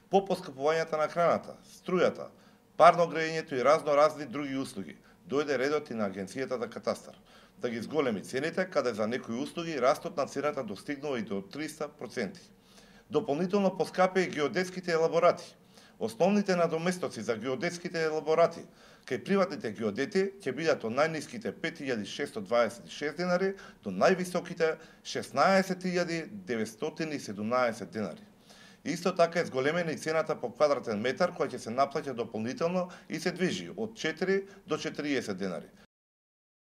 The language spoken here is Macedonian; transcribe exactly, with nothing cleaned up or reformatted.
по поскапувањата на храната, струјата, парно грејењето и разно разни други услуги, дојде редот и на Агенцијата за катастар да ги зголеми цените, каде за некои услуги растот на цената достигнува и до триста проценти. Дополнително поскапе и геодетските елаборати. Основните надоместоци за геодетските елаборати кај приватните геодети ќе бидат од најниските пет илјади шестстотини дваесет и шест денари до највисоките шеснаесет илјади деветстотини и седумнаесет денари. Исто така е зголемена и цената по квадратен метар која ќе се наплаќа дополнително и се движи од четири до четириесет денари.